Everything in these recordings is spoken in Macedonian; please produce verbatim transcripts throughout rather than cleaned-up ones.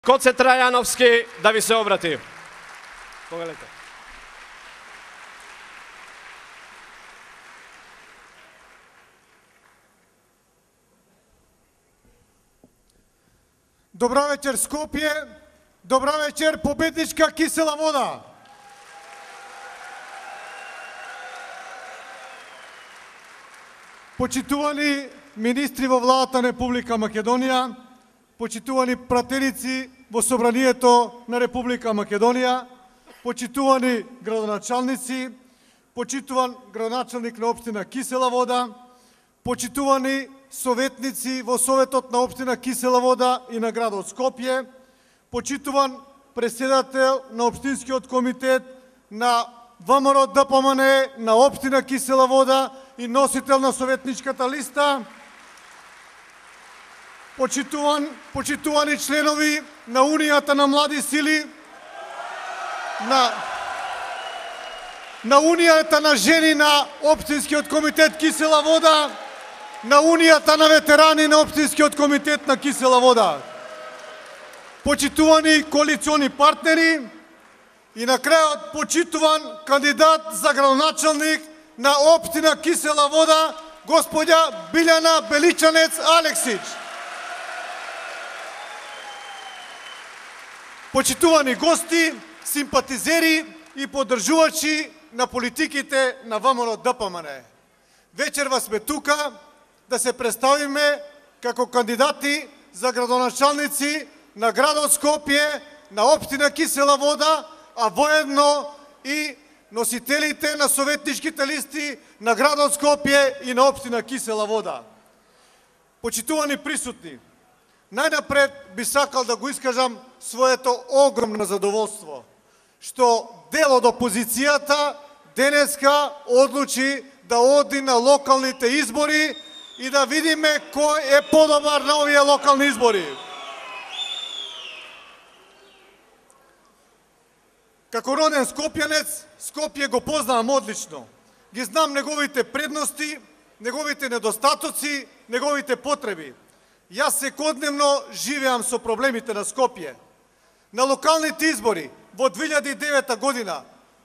Коце Трајановски да ви се обрати. Повелете. Добра вечер, Скопје. Добра вечер, победничка Кисела вода. Почитувани министри во владата на Република Македонија, почитувани пратеници во Собранието на Република Македонија, почитувани градоначалници, почитуван градоначалник на општина Кисела вода, почитувани советници во Советот на општина Кисела вода и на градот Скопје, почитуван председател на општинскиот комитет на ВМРО ДПМН на општина Кисела вода и носител на советничката листа, почитуван, почитувани членови на Унијата на млади сили, на, на Унијата на жени на општинскиот комитет Кисела вода, на Унијата на ветерани на општинскиот комитет на Кисела вода, почитувани коалициони партнери и на крајот почитуван кандидат за градоначалник на општина Кисела вода, господја Билјана Беличанец Алексич. Почитувани гости, симпатизери и поддржувачи на политиките на ВМРО ДПМН. Вечерва сме тука да се представиме како кандидати за градоначалници на градот Скопје, на општина Кисела вода, а воедно и носителите на советничките листи на градот Скопје и на општина Кисела вода. Почитувани присутни, најнапред би сакал да го искажам своето огромно задоволство, што дел од опозицијата денеска одлучи да оди на локалните избори и да видиме кој е подобар на овие локални избори. Како роден скопјанец, Скопје го познавам одлично. Ги знам неговите предности, неговите недостатоци, неговите потреби. Јас секојдневно живеам со проблемите на Скопје. На локалните избори во две илјади и девета година,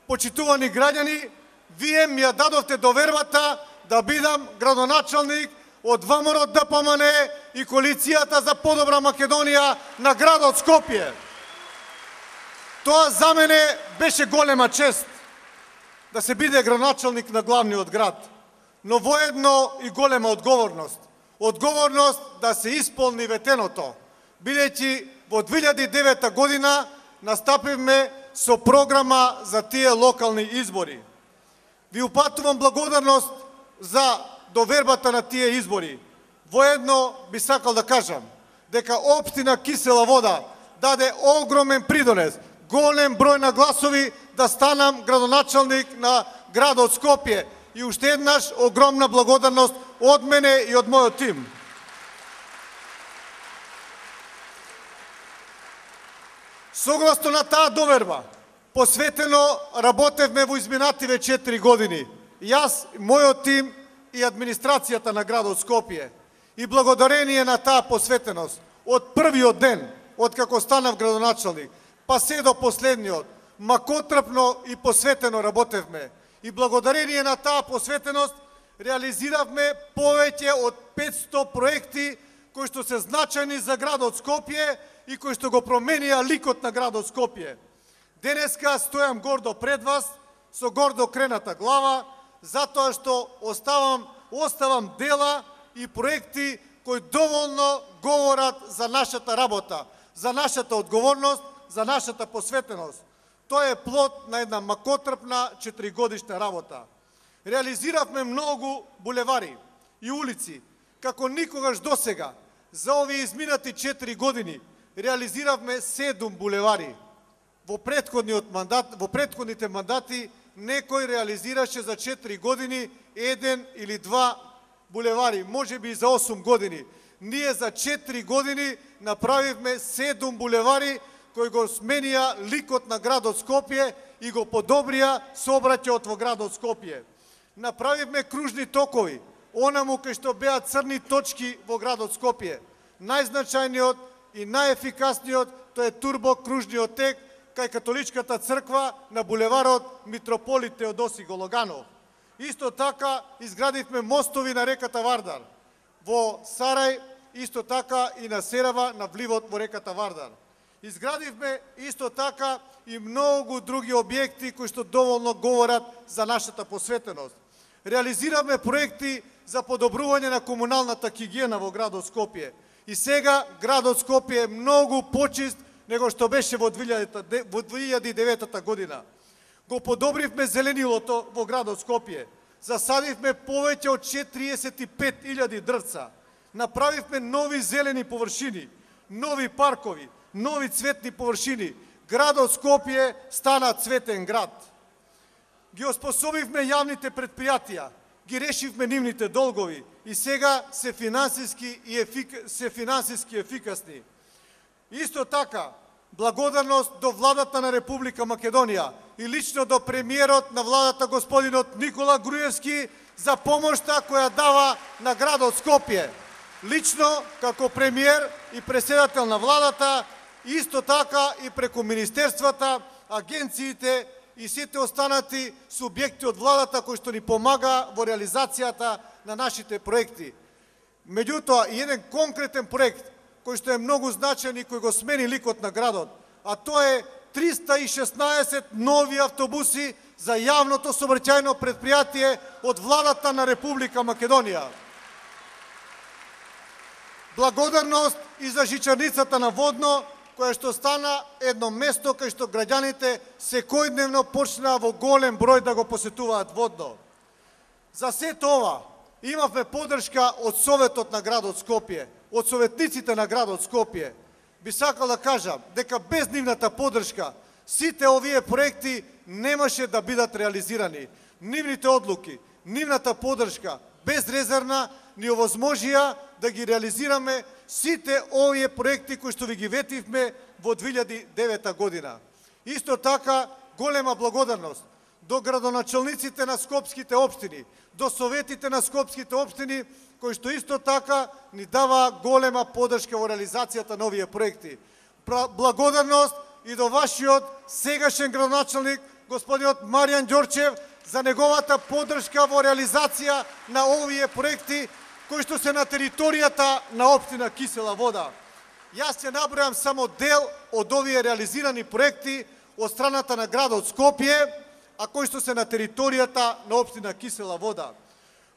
почитувани граѓани, вие ми ја дадовте довербата да бидам градоначалник од ВМРО ДПМН и коалицијата за подобра Македонија на градот Скопје. Тоа за мене беше голема чест да се биде градоначалник на главниот град, но воедно и голема одговорност. Одговорност да се исполни ветеното, бидејќи во две илјади и девета година настапивме со програма за тие локални избори. Ви упатувам благодарност за довербата на тие избори. Воедно би сакал да кажам дека општина Кисела вода даде огромен придонес, голем број на гласови да станам градоначалник на градот Скопје. И уште еднаш огромна благодарност од мене и од мојот тим. Согласно на таа доверба, посветено работевме во изминативе четири години. Јас, мојот тим и администрацијата на градот Скопје. И благодарение на таа посветеност, од првиот ден, од како станав градоначалник, па се до последниот, макотрпно и посветено работевме. И благодарение на таа посветеност реализиравме повеќе од петсто проекти кои што се значајни за градот Скопје и кои што го променија ликот на градот Скопје. Денеска стојам гордо пред вас со гордо крената глава, затоа што оставам, оставам дела и проекти кои доволно говорат за нашата работа, за нашата одговорност, за нашата посветеност. Тоа е плод на една макотрпна четиригодишна работа. Реализиравме многу булевари и улици, како никогаш досега. За овие изминати четири години реализиравме седум булевари. Во претходниот мандат, во претходните мандати некој реализираше за четири години еден или два булевари, можеби и за осум години. Ние за четири години направивме седум булевари кои го сменија ликот на градот Скопје и го подобрија сообраќајот во градот Скопје. Направивме кружни токови, онаму кај што беа црни точки во градот Скопје. Најзначајниот и најефикасниот, тоа е турбокружниот тек кај католичката црква на булеварот Митрополит Теодоси Гологанов. Исто така изградивме мостови на реката Вардар. Во Сарај, исто така и на Серава, на вливот во реката Вардар. Изградивме исто така и многу други објекти кои што доволно говорат за нашата посветеност. Реализираме проекти за подобрување на комуналната хигиена во градот Скопје. И сега градот Скопје е многу почист него што беше во две илјади и девета година. Го подобривме зеленилото во градот Скопје. Засадивме повеќе од четириесет и пет илјади дрвца. Направивме нови зелени површини, нови паркови, нови цветни површини. Градот Скопје стана цветен град. Ги оспособивме јавните предпријатија, ги решивме нивните долгови и сега се финансиски и ефик... се финансиски ефикасни. Исто така, благодарност до владата на Република Македонија и лично до премиерот на владата господинот Никола Груевски за помошта која дава на градот Скопје. Лично како премиер и преседател на владата, исто така и преку министерствата, агенциите и сите останати субјекти од владата кои што ни помага во реализацијата на нашите проекти. Меѓутоа, и еден конкретен проект кој што е многу значаен и кој го смени ликот на градот, а тоа е триста и шеснаесет нови автобуси за јавното сообраќајно предпријатие од владата на Република Македонија. Благодарност и за жичарницата на Водно, која што стана едно место кај што граѓаните секојдневно почнаа во голем број да го посетуваат Водно. За сето ова имавме поддршка од Советот на градот Скопје, од советниците на градот Скопје. Би сакал да кажам дека без нивната поддршка сите овие проекти немаше да бидат реализирани. Нивните одлуки, нивната поддршка безрезервна ни овозможија да ги реализираме сите овие проекти кои што ви ги ветивме во две илјади и девета година. Исто така, голема благодарност до градоначалниците на скопските општини, до советите на скопските општини, кои што исто така ни дава голема поддршка во реализацијата на овие проекти. Благодарност и до вашиот сегашен градоначалник, господинот Маријан Ѓорчев, за неговата поддршка во реализација на овие проекти, кои што се на територијата на општина Кисела Вода. Јас ќе набројам само дел од овие реализирани проекти од страната на градот Скопје, а кои што се на територијата на општина Кисела Вода.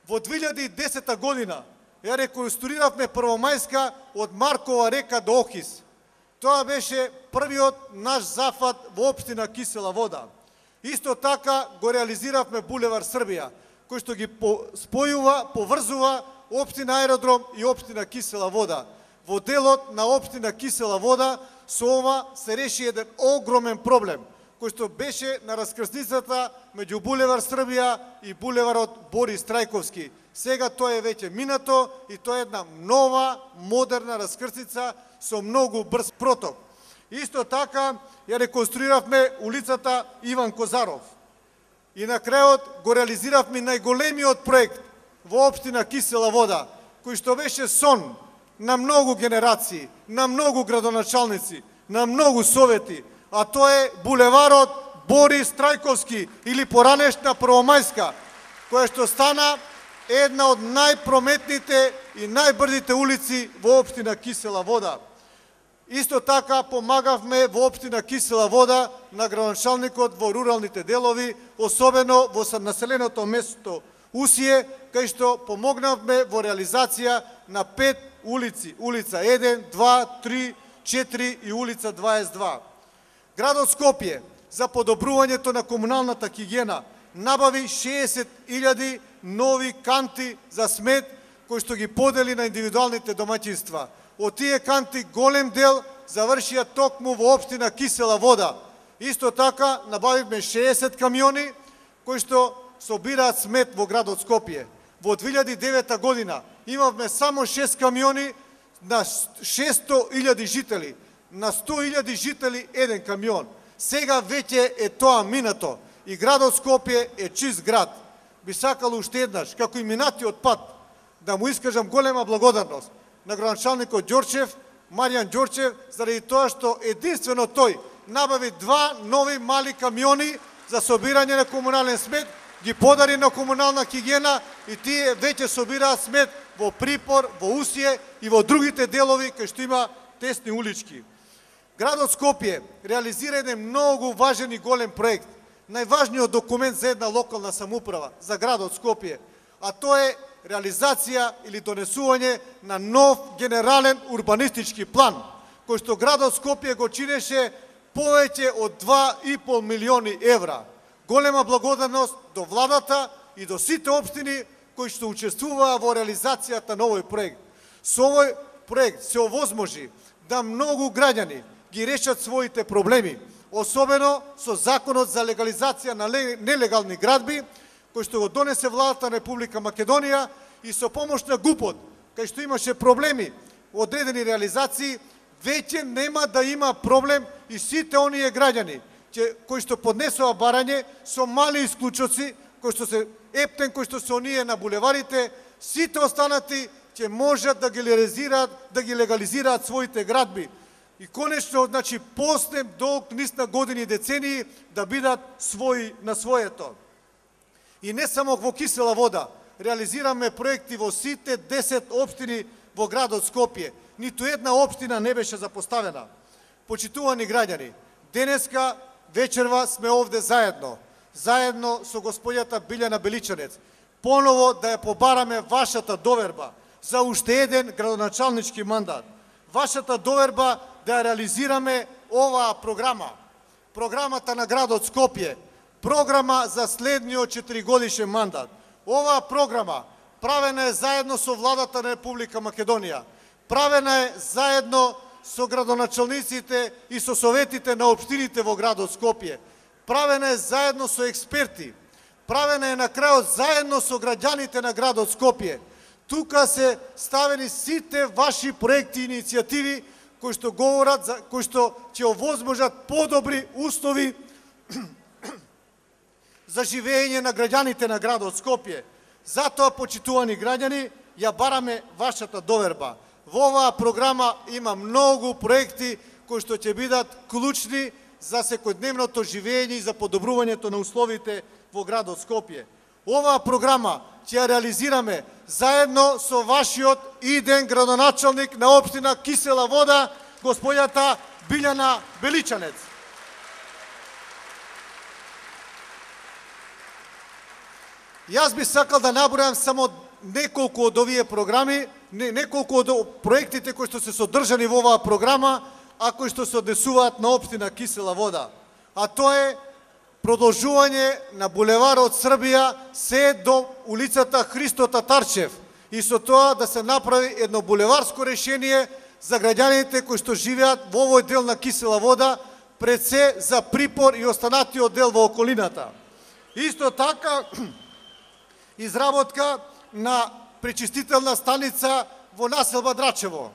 Во две илјади и десета година ја реконструиравме Првомајска од Маркова река до Охис. Тоа беше првиот наш зафат во општина Кисела Вода. Исто така го реализиравме булевар Србија, кој што ги спојува, поврзува општина Аеродром и општина Кисела Вода. Во делот на општина Кисела Вода со ова се реши еден огромен проблем, кој што беше на раскрсницата меѓу булевар Србија и булеварот Борис Трајковски. Сега тоа е веќе минато и тоа е една нова, модерна раскрсница со многу брз проток. Исто така ја реконструиравме улицата Иван Козаров. И на крајот го реализиравме најголемиот проект во општина Кисела Вода, кој што беше сон на многу генерации, на многу градоначалници, на многу совети, а тоа е булеварот Борис Трајковски или поранешна Првомајска, која што стана една од најпрометните и најбрзите улици во општина Кисела Вода. Исто така помагавме во општина Кисела Вода на градоначалникот во руралните делови, особено во населеното место Усие, кај што помогнавме во реализација на пет улици, улица еден, два, три, четири и улица дваесет и два. Градот Скопје за подобрувањето на комуналната хигиена набави шеесет илјади нови канти за смет кои што ги подели на индивидуалните домаќинства. Од тие канти голем дел завршија токму во општина Кисела Вода. Исто така набавивме шеесет камиони кои што собираат смет во градот Скопје. Во две илјади и девета година имавме само шест камиони на шесто илјади жители. На сто илјади жители еден камион. Сега веќе е тоа минато и градот Скопје е чист град. Би сакал уште еднаш, како и минатиот пат, да му искажам голема благодарност на градоначалникот Ѓорчев, Маријан Ѓорчев, заради тоа што единствено тој набави два нови мали камиони за собирање на комунален смет, ги подари на комунална хигиена и тие веќе собираат смет во Припор, во Усие и во другите делови кај што има тесни улички. Градот Скопје реализира еден многу важен и голем проект, најважниот документ за една локална самоуправа, за градот Скопје, а тоа е реализација или донесување на нов генерален урбанистички план, кој што градот Скопје го чинеше повеќе од два и пол милиони евра. Голема благодарност до владата и до сите општини кои што учествуваа во реализацијата на овој проект. Со овој проект се овозможи да многу граѓани ги решат своите проблеми, особено со законот за легализација на нелегални градби, кој што го донесе владата на Република Македонија и со помош на ГУП-от, кај што имаше проблеми во одредени реализации, веќе нема да има проблем и сите оние граѓани кои што поднесоа барање со мали исклучоци, кои што се ептен, кои што се оние на булеварите, сите останати ќе можат да ги легализираат, да ги легализираат своите градби. И конечно, значи, после долг низ на години и децении да бидат своји на своето. И не само во Кисела вода, реализираме проекти во сите десет општини во градот Скопје. Ниту една општина не беше запоставена. Почитувани граѓани, денеска вечерва сме овде заедно, заедно со господјата Билјана Беличанец, поново да ја побараме вашата доверба за уште еден градоначалнички мандат. Вашата доверба да ја реализираме оваа програма, програмата на градот Скопје, програма за следниот четиригодишен мандат. Оваа програма правена е заедно со владата на Република Македонија, правена е заедно со градоначалниците и со советите на општините во градот Скопје, правена е заедно со експерти, правена е на крајот заедно со граѓаните на градот Скопје. Тука се ставени сите ваши проекти и иницијативи кои што говорат, за, кои што ќе овозможат подобри услови за живење на граѓаните на градот Скопје. Затоа, почитувани граѓани, ја бараме вашата доверба. Во оваа програма има многу проекти кои што ќе бидат клучни за секојдневното живење и за подобрувањето на условите во градот Скопје. Оваа програма ќе ја реализираме заедно со вашиот иден градоначалник на општина Кисела вода, господјата Билјана Беличанец. Јас би сакал да набројам само неколку од овие програми, не, неколку од проектите кои што се содржани во оваа програма, а кои што се однесуваат на општина Кисела вода. А тоа е продолжување на булеварот Србија се до улицата Христо Татарчев и со тоа да се направи едно булеварско решение за граѓаните кои што живеат во овој дел на Кисела вода, пред се за Припор и останатиот дел во околината. Исто така, изработка на пречистителна станица во населба Драчево.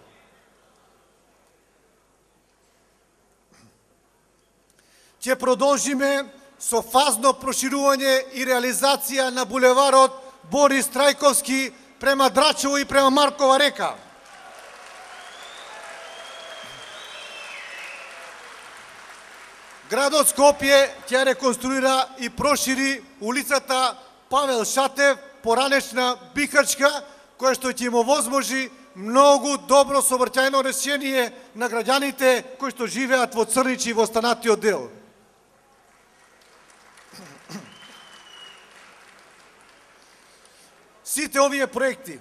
Ќе продолжиме со фазно проширување и реализација на булеварот Борис Трајковски према Драчево и према Маркова река. Градот Скопје ќе реконструира и прошири улицата Павел Шатев, поранешна Бихачка, која што ќе им овозможи многу добро сообраќајно решение на граѓаните кои што живеат во Црнич и во останатиот дел. Сите овие проекти,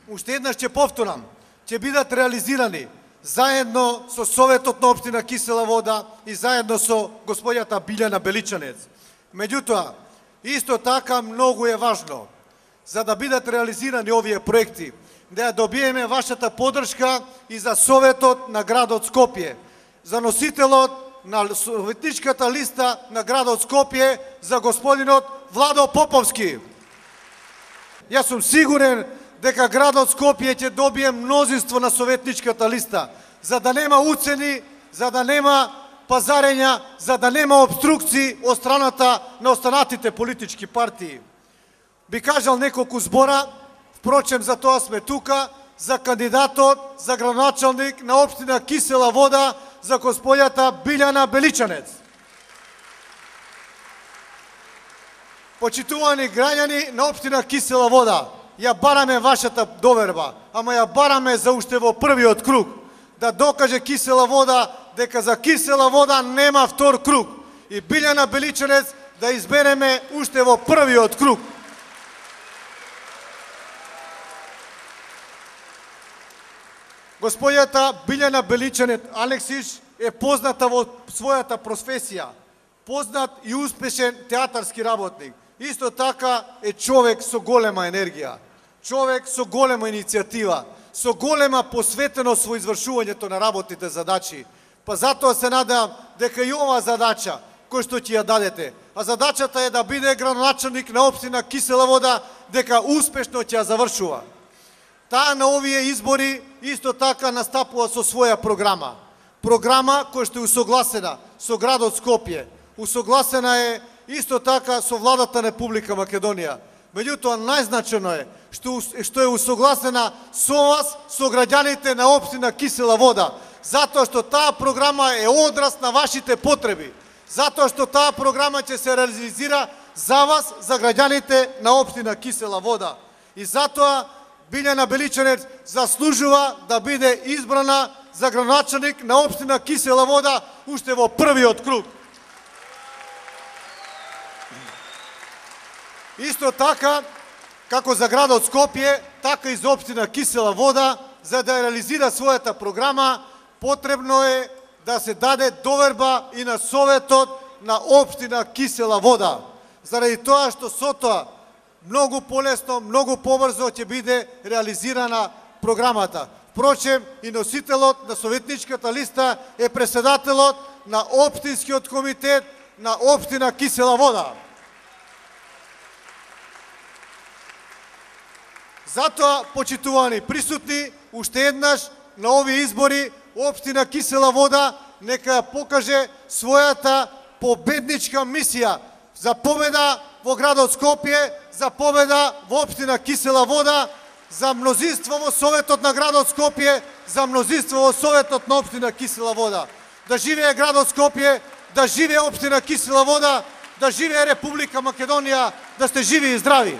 уште еднаш ќе повторам, ќе бидат реализирани заедно со Советот на општина Кисела вода и заедно со господјата Билјана Беличанец. Меѓутоа, исто така многу е важно, за да бидат реализирани овие проекти, да ја добиеме вашата поддршка и за Советот на градот Скопје, за носителот на советничката листа на градот Скопје, за господинот Владо Поповски. Јас сум сигурен дека градот Скопје ќе добие мнозинство на советничката листа, за да нема уцени, за да нема пазарења, за да нема обструкции од страната на останатите политички партии. Би кажал неколку збора, впрочем за тоа сме тука, за кандидатот за градоначалник на општина Кисела Вода, за господјата Билјана Беличанец. Почитувани граѓани на општина Кисела Вода, ја бараме вашата доверба, ама ја бараме за уште во првиот круг, да докаже Кисела Вода дека за Кисела Вода нема втор круг и Билјана Беличанец да избереме уште во првиот круг. Господјата Билјана Беличанец Алексиш е позната во својата професија, познат и успешен театарски работник. Исто така е човек со голема енергија, човек со голема иницијатива, со голема посветеност во извршувањето на работните задачи. Па затоа се надам дека и ова задача кој што ќе ја дадете, а задачата е да биде градоначалник на општина Кисела Вода, дека успешно ќе ја завршува. Таа на овие избори исто така настапува со своја програма. Програма која што е усогласена со градот Скопје, усогласена е исто така со владата на Република Македонија. Меѓутоа, најзначено е што, што е усогласена со вас, со граѓаните на општина Кисела Вода, затоа што таа програма е одраз на вашите потреби, затоа што таа програма ќе се реализира за вас, за граѓаните на општина Кисела Вода. И затоа Билјана Беличанец заслужува да биде избрана за градоначалник на општина Кисела Вода уште во првиот круг. Исто така, како за градот Скопје, така и за општина Кисела Вода, за да реализира својата програма, потребно е да се даде доверба и на Советот на општина Кисела Вода. Заради тоа што со тоа многу полесно, многу побрзо ќе биде реализирана програмата. Впрочем, и носителот на советничката листа е председателот на општинскиот комитет на општина Кисела Вода. Затоа, почитувани присутни, уште еднаш на овие избори општина Кисела Вода нека ја покаже својата победничка мисија за победа во градот Скопје, за победа во општина Кисела Вода, за мнозинство во Советот на градот Скопје, за мнозинство во Советот на општина Кисела Вода. Да живее градот Скопје, да живее општина Кисела Вода, да живее Република Македонија, да сте живи и здрави.